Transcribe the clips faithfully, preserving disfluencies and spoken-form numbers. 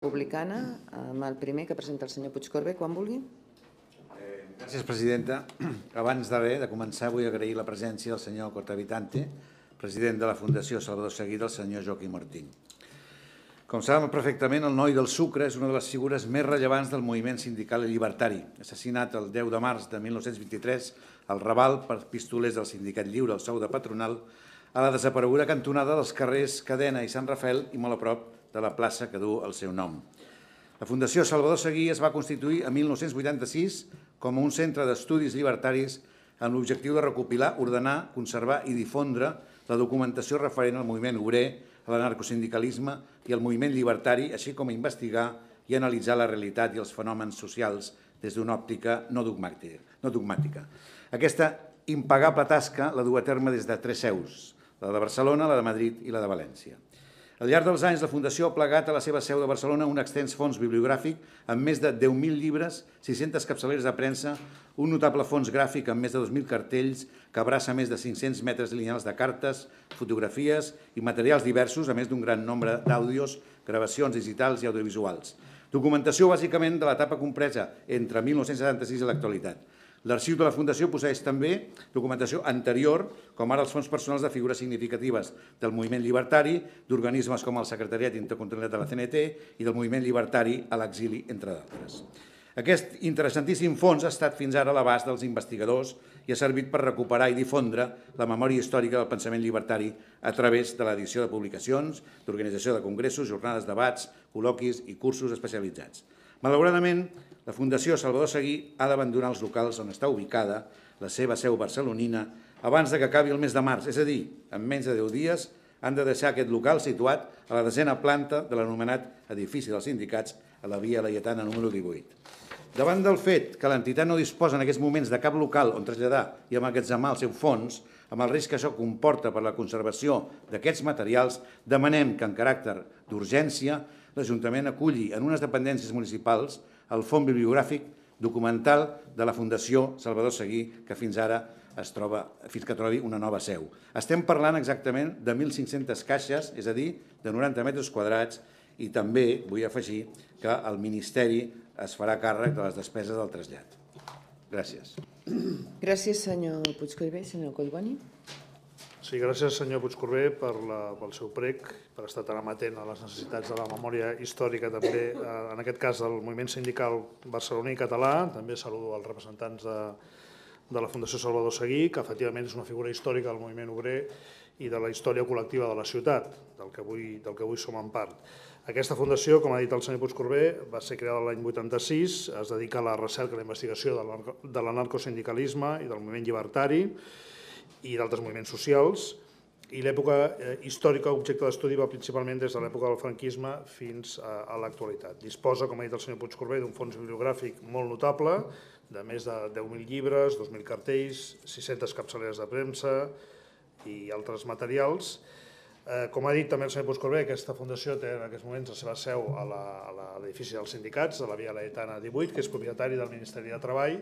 Republicana, amb el primer que presenta el senyor Puigcorbé, quan vulgui. Gràcies, presidenta. Abans de res, de començar, vull agrair la presència del senyor Cortavitante, president de la Fundació Salvador Seguí, del senyor Joaquim Martín. Com saben perfectament, el noi del sucre és una de les figures més rellevants del moviment sindical i llibertari. Assassinat el deu de març de mil nou-cents vint-i-tres al Raval per pistolers del Sindicat Lliure al sou de patronal, a la desapareguda cantonada dels carrers Cadena i Sant Rafael i molt a prop de la plaça que du el seu nom. La Fundació Salvador Seguí es va constituir en mil nou-cents vuitanta-sis com un centre d'estudis llibertaris amb l'objectiu de recopilar, ordenar, conservar i difondre la documentació referent al moviment obrer, a l'anarcosindicalisme i al moviment llibertari, així com a investigar i analitzar la realitat i els fenòmens socials des d'una òptica no dogmàtica. Aquesta impagable tasca la du a terme des de tres seus, la de Barcelona, la de Madrid i la de València. Al llarg dels anys, la Fundació ha plegat a la seva seu de Barcelona un extens fons bibliogràfic amb més de deu mil llibres, sis-centes capçaleres de premsa, un notable fons gràfic amb més de dos mil cartells que abraça més de cinc-cents metres lineals de cartes, fotografies i materials diversos, a més d'un gran nombre d'àudios, gravacions digitals i audiovisuals. Documentació bàsicament de l'etapa compresa entre mil nou-cents setanta-sis i l'actualitat. L'arxiu de la Fundació posseeix també documentació anterior, com ara els fons personals de figures significatives del moviment llibertari, d'organismes com el Secretariat Intercontinental de la C N T i del moviment llibertari a l'exili, entre d'altres. Aquest interessantíssim fons ha estat fins ara a l'abast dels investigadors i ha servit per recuperar i difondre la memòria històrica del pensament llibertari a través de l'edició de publicacions, d'organització de congressos, jornades, debats, col·loquis i cursos especialitzats. Malauradament, la Fundació Salvador Seguí ha d'abandonar els locals on està ubicada la seva seu barcelonina abans que acabi el mes de març, és a dir, en menys de deu dies han de deixar aquest local situat a la desena planta de l'anomenat edifici dels sindicats a la via Laietana número divuit. Davant del fet que l'entitat no disposa en aquests moments de cap local on traslladar i emmagatzemar el seu fons, amb el risc que això comporta per la conservació d'aquests materials, demanem que en caràcter d'urgència l'Ajuntament aculli en unes dependències municipals el fons bibliogràfic documental de la Fundació Salvador Seguí, que fins ara es troba, fins que trobi una nova seu. Estem parlant exactament de mil cinc-centes caixes, és a dir, de noranta metres quadrats, i també vull afegir que el Ministeri es farà càrrec de les despeses del trasllat. Gràcies. Gràcies, senyor Puigcorbé. Senyor Collboni. Sí, gràcies, senyor Puigcorbé, pel seu prec, per estar tan amatent a les necessitats de la memòria històrica, també, en aquest cas, del moviment sindical barceloní i català. També saludo els representants de la Fundació Salvador Seguí, que efectivament és una figura històrica del moviment obrer i de la història col·lectiva de la ciutat, del que avui som en part. Aquesta fundació, com ha dit el senyor Puigcorbé, va ser creada l'any vuitanta-sis, es dedica a la recerca i la investigació de l'anarcosindicalisme i del moviment llibertari i d'altres moviments socials, i l'època històrica objecte d'estudi va principalment des de l'època del franquisme fins a l'actualitat. Disposa, com ha dit el senyor Puigcorbé, d'un fons bibliogràfic molt notable, de més de deu mil llibres, dos mil cartells, sis-centes capçaleres de premsa i altres materials. Com ha dit també el senyor Puigcorbé, aquesta fundació té en aquests moments la seva seu a l'edifici dels sindicats, a la via Laietana divuit, que és propietari del Ministeri de Treball,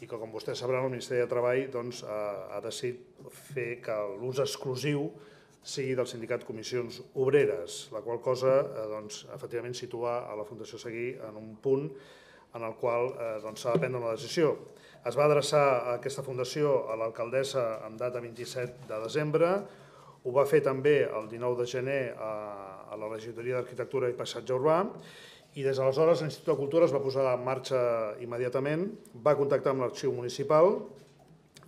i que, com vostès sabran, el Ministeri de Treball ha decidit fer que l'ús exclusiu sigui del sindicat Comissions Obreres, la qual cosa, efectivament, situa a la Fundació Seguí en un punt en el qual s'ha de prendre una decisió. Es va adreçar aquesta fundació a l'alcaldessa en data vint-i-set de desembre, ho va fer també el dinou de gener a la Regidoria d'Arquitectura i Paisatge Urbà, i des d'aleshores l'Institut de Cultura es va posar en marxa immediatament, va contactar amb l'arxiu municipal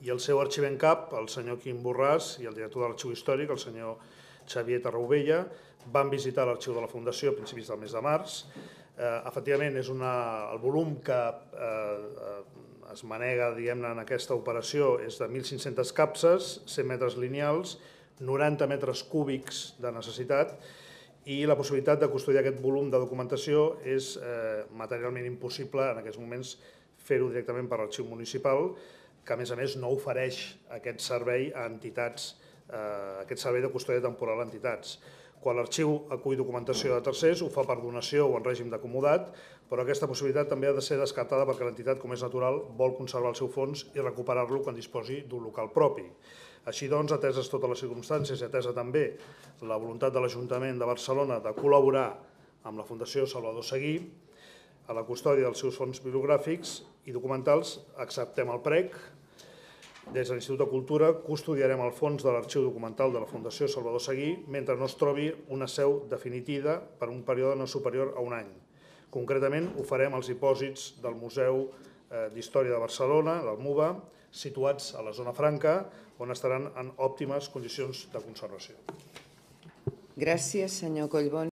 i el seu arxiver en cap, el senyor Quim Borràs, i el director de l'arxiu històric, el senyor Xavier Tarraubella, van visitar l'arxiu de la Fundació a principis del mes de març. Efectivament, és el volum que es manega, diguem-ne, en aquesta operació és de mil cinc-centes capses, cent metres lineals, noranta metres cúbics de necessitat, i la possibilitat de custodiar aquest volum de documentació és materialment impossible en aquests moments fer-ho directament per l'arxiu municipal, que a més a més no ofereix aquest servei a entitats, aquest servei de custòdia temporal a entitats. Quan l'arxiu acull documentació de tercers, ho fa per donació o en règim d'acomodat, però aquesta possibilitat també ha de ser descartada perquè l'entitat, com és natural, vol conservar el seu fons i recuperar-lo quan disposi d'un local propi. Així doncs, ateses totes les circumstàncies i atesa també la voluntat de l'Ajuntament de Barcelona de col·laborar amb la Fundació Salvador Seguí a la custòdia dels seus fons bibliogràfics i documentals. Acceptem el prec. Des de l'Institut de Cultura custodiarem el fons de l'arxiu documental de la Fundació Salvador Seguí mentre no es trobi una seu definitiva per un període no superior a un any. Concretament, ho farem als dipòsits del Museu d'Història de Barcelona, del MUBA, situats a la zona franca, on estaran en òptimes condicions de conservació. Gràcies, senyor Collboni.